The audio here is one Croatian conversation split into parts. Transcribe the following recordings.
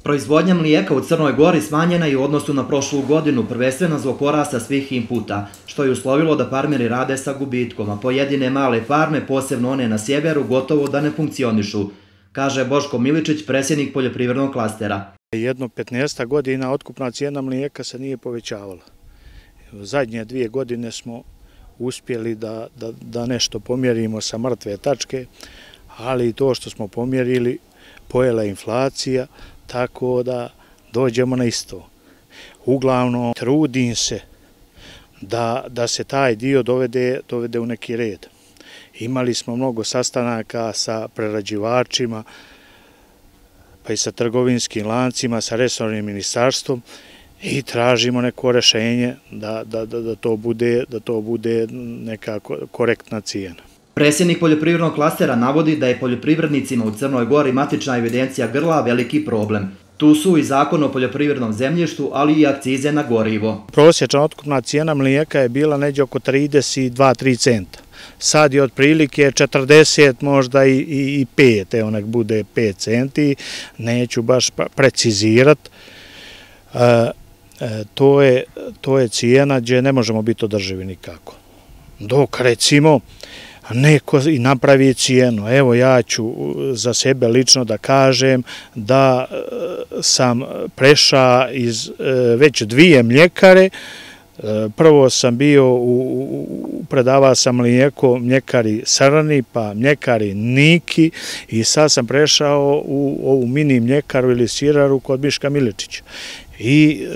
Proizvodnja mlijeka u Crnoj Gori smanjena je u odnosu na prošlu godinu, prvenstveno zbog porasta svih inputa, što je uslovilo da farmeri rade sa gubitkom, a pojedine male farme, posebno one na sjeveru, gotovo da ne funkcionišu, kaže Boško Miličić, predsjednik poljoprivrednog klastera. Jedno 15 godina otkupna cijena mlijeka se nije povećavala. Zadnje 2 godine smo uspjeli da nešto pomjerimo sa mrtve tačke, ali i to što smo pomjerili pojela inflacija, tako da dođemo na isto. Uglavnom, trudim se da se taj dio dovede u neki red. Imali smo mnogo sastanaka sa prerađivačima, pa i sa trgovinskim lancima, sa resornim ministarstvom i tražimo neko rješenje da to bude neka korektna cijena. Predsjednik poljoprivrednog klastera navodi da je poljoprivrednicima u Crnoj Gori matična evidencija grla veliki problem. Tu su i zakon o poljoprivrednom zemljištu, ali i akcize na gorivo. Prosječna otkupna cijena mlijeka je bila negdje oko 32-3 centa. Sad je otprilike 40, možda i 5, evo nek bude 5 centi, neću baš precizirati. To je cijena gdje ne možemo biti održivi nikako. Dok recimo neko i napravi cijenu. Evo ja ću za sebe lično da kažem da sam prešao iz već 2 mljekare. Prvo sam bio, predavao sam mlijeko mljekari Srni, pa mljekari Niki i sad sam prešao u ovu mini mljekaru ili siraru kod Miška Miličića. I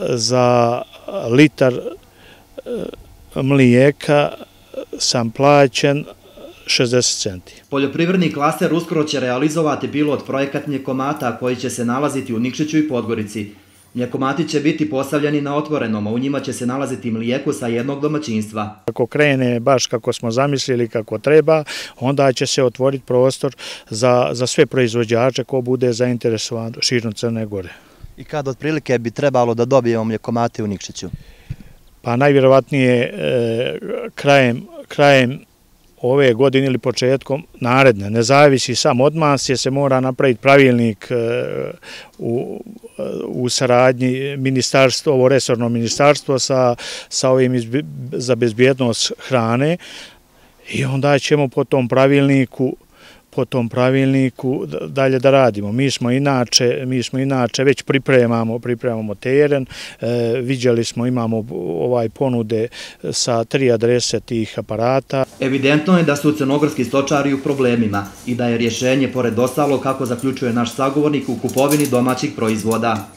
za litar mlijeka sam plaćen 60 centi. Poljoprivredni klaster uskoro će realizovati pilot projekat mljekomata koji će se nalaziti u Nikšiću i Podgorici. Mljekomati će biti postavljeni na otvorenom, a u njima će se nalaziti mlijeko sa jednog domaćinstva. Ako krene baš kako smo zamislili, kako treba, onda će se otvoriti prostor za sve proizvođače ko bude zainteresovan širom Crne Gore. I kad otprilike bi trebalo da dobijemo mljekomate u Nikšiću? Pa najvjerovatnije krajem ove godine ili početkom naredne. Ne zavisi samo od nas, jer se mora napraviti pravilnik u saradnji ministarstvo, ovo resorno ministarstvo sa ovim za bezbjednost hrane i onda ćemo po tom pravilniku dalje da radimo. Mi smo inače već pripremamo teren, viđali smo, imamo ponude sa 3 adrese tih aparata. Evidentno je da su crnogorski stočari u problemima i da je rješenje, pored ostalo, kako zaključuje naš sagovornik, u kupovini domaćih proizvoda.